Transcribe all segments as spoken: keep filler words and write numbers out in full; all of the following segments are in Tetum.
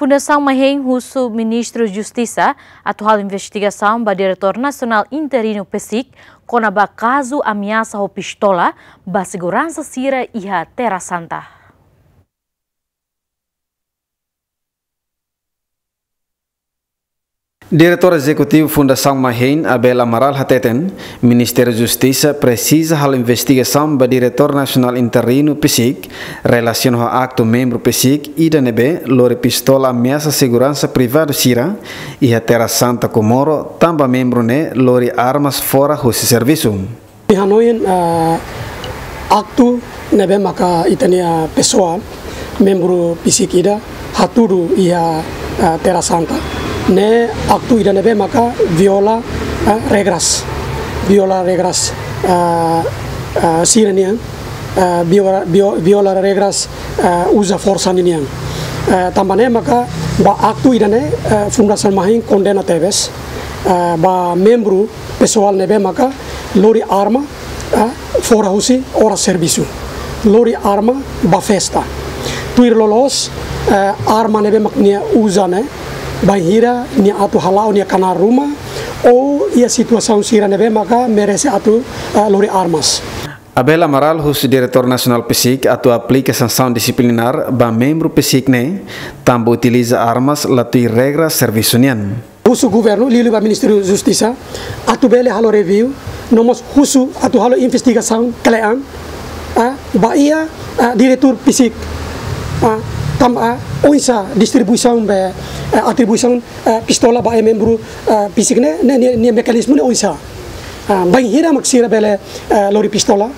Fundasaun Mahein husu Ministru Justisa atu halo investigasaun ba Diretór Nasionál Interinu PCIC kona-ba kazu ameasa ho pistola ba seguransa sira iha Terra Santa. Diretór Ezekutivu Fundasaun Mahein, Abel Amaral hateten, Ministériu Justisa presiza halo investigasaun ba Diretór Nasionál Interinu PCIC, relasiona ho aktu membru PCIC ida ne'ebé lori pistola ameasa seguransa privadu sira iha Terra Santa Comoro, tanba membru ne'e lori armas fora husi servisu. Ami hanoin, ah, aktu ne'ebé maka ita-nia pesoál, membru PCIC ida, hatudu iha, ah, Terra Santa. Ne'e aktu ida ne'ebé maka viola, ah, regras. Viola regras, ah, ah, sira-nian, ah, viola, vio-, viola regras, ah, uza forsa ninian. Ah, tanba ne'e maka ba aktu ida-ne'e, ah, Fundasaun Mahein kondena tebes, ah, ba membru pesoál ne'ebé maka lori arma, ah, fora husi oras servisu. Lori arma ba festa. Tuir loloos, ah, arma ne'ebé mak nia uza ne'e, bainhira nia atu hala'o nia knaar ruma, ou iha situasaun sira ne'ebé maka merese atu, ah, lori armas. Abel Amaral husu Diretór Nasionál PCIC atu aplika sansaun disiplinár ba membru PCIC ne'e, tanba utiliza armas la tuir regra servisu nian. Husu governu, liuliu ba Ministériu Justisa, atu bele halo review, no mós husu atu halo investigasaun kle'an, ah, ba iha, ah, diretór PCIC, ah, tanba, ah, oinsá distribuisaun be, ah, atribuisaun, ah, pistola ba iha membru, ah, PCIC ne'e, ne'e, ne'e, ne'e mekanizmu ne'e oinsá. Ah, bainhira mak sira bele, ah, lori pistola,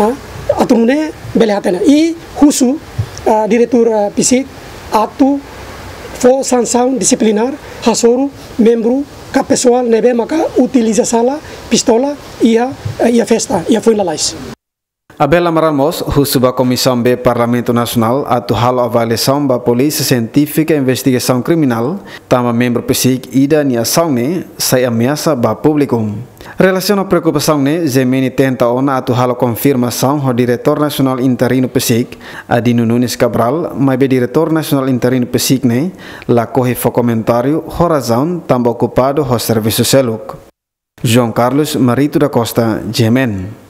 ah, atu nune'e bele hatene. I husu, ah, diretór, ah, PCIC atu fó sansaun disiplinár hasoru membru ka pesoál ne'ebé maka utiliza sala pistola iha, eh, iha festa, iha foin lalais. Abel Amaral mós husu ba Komisaun B Parlamentu Nasionál atu halo avaliasaun ba Polísia Sientífika Investigasaun Kriminál, tanba membru PCIC ida nia asaun ne'e sai ameasa ba públiku. Relasiona ho preokupasaun ne'e, G M N tenta ona atu halo konfirmasaun ho Diretór Nasionál Interinu PCIC, Adino Nunes Cabral, maibé Diretór Nasionál Interinu PCIC ne'e lakohi fó komentáriu ho razaun tanba okupadu ho servisu seluk. João Carlos Marito da Costa, G M N.